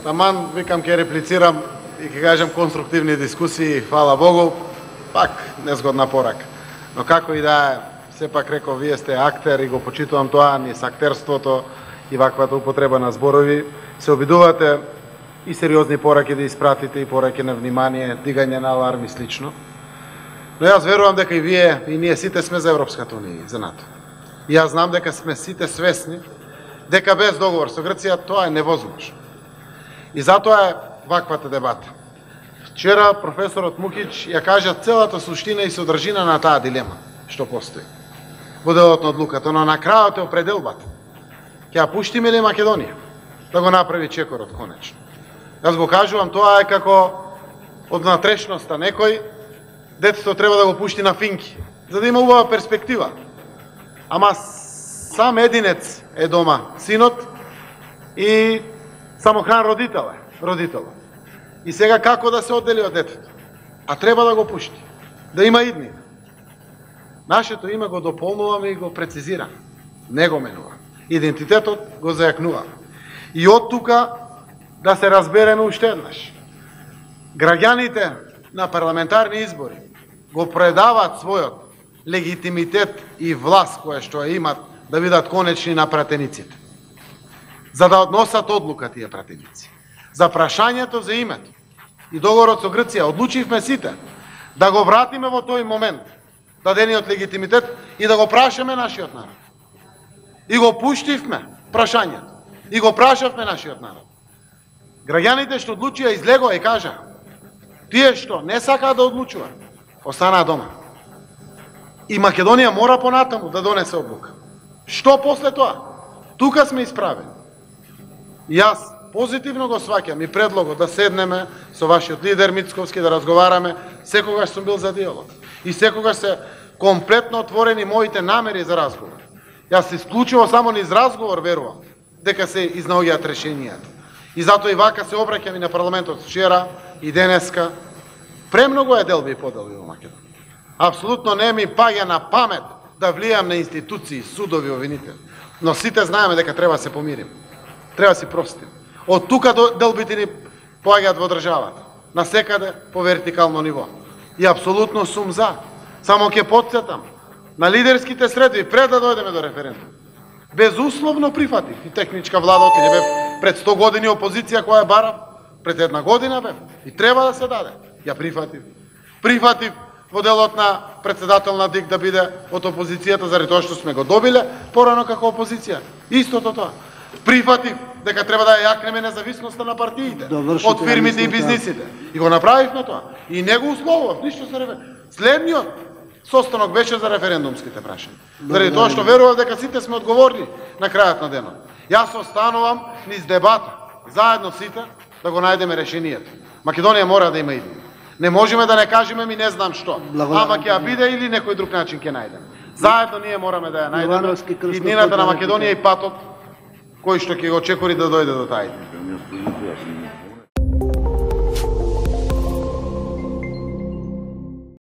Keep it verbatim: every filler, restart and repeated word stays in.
таман викам ќе реплицирам и ќе кажам конструктивни дискусии, фала Богу, пак незгодна порака. Но како и да е, сепак реков, вие сте актер и го почитувам тоа, низ актерството и ваквата употреба на зборови, се обидувате и сериозни пораки да испратите и пораки на внимание, дигање на аларм и слично. Но јас верувам дека и вие и ние сите сме за Европската унија и за НАТО. И јас знам дека сме сите свесни дека без договор со Грција тоа е невозможно. И затоа е ваквата дебата. Вчера професорот Мукич ја кажа целата суштина и содржина на таа дилема што постои во делот на одлуката, но на крајот е определбата. Ќе ја пуштиме ли Македонија да го направи чекорот конечно? Јас го кажувам, тоа е како од натрешноста некој детето треба да го пушти на финки, за да има убава перспектива. Ама сам единец е дома, синот, и самохран родител е, родителот. И сега како да се оддели од детето? А треба да го пушти, да има иднина. Нашето име го дополнуваме и го прецизираме. Не го менуваме. Идентитетот го зајакнуваме. И од тука да се разбереме уште еднаш. Граѓаните на парламентарни избори го предават својот легитимитет и власт која што ја имат да бидат конечни на пратениците. За да односат одлука тие пратеници. За прашањето за името и договорот со Грција одлучивме сите да го вратиме во тој момент, дадениот легитимитет, и да го прашаме нашиот народ. И го пуштивме прашањето. И го прашавме нашиот народ. Граѓаните што одлучија излегоа и кажаа, тие што не сакаат да одлучуваат, останаа дома. И Македонија мора понатаму да донесе одлука. Што после тоа? Тука сме исправени. И јас позитивно го сваќам и предлогот да седнеме со вашиот лидер Мицковски да разговараме. Секогаш сум бил за диалог. И секогаш се комплетно отворени моите намери за разговор. Јас исклучиво само низ разговор верувам дека се изнаоѓаат решенијата. И затоа и вака се обраќам и на парламентот вчера и денеска. Премногу е делби и поделби во Македонија. Апсолутно не ми паѓа на памет да влијам на институции, судови, обвинители. Но сите знаеме дека треба да се помирим. Треба да си простим. Од тука делбите ни поаѓаат во државата. Насекаде по вертикално ниво. И апсолутно сум за. Само ќе потсетам на лидерските средби пред да дојдеме до референдум. Безусловно прифатив и техничка влада, отиде бев пред сто години опозиција која бара, пред една година бев и треба да се даде. Ја прифатив. Прифатив во делот на председател на ДИК да биде од опозицијата заради тоа што сме го добиле порано како опозиција. Истото тоа. Прифатив дека треба да ја јакнеме независноста на партиите од фирмите и бизнисите. И го направивме тоа. И не го условував, ништо се референдум. Следниот состанок беше за референдумските прашања. Заради тоа што верував дека сите сме одговорни на крајот на денот. Јас останувам низ дебата, заедно сите, да го најдеме решението. Македонија мора да има иднина. Не можеме да не кажеме ми не знам што. Ама ќе ја биде или некој друг начин ќе најдеме. Заедно ние мораме да ја најдеме иднината на Македонија и патот кој што ќе го чекори да дојде до тај.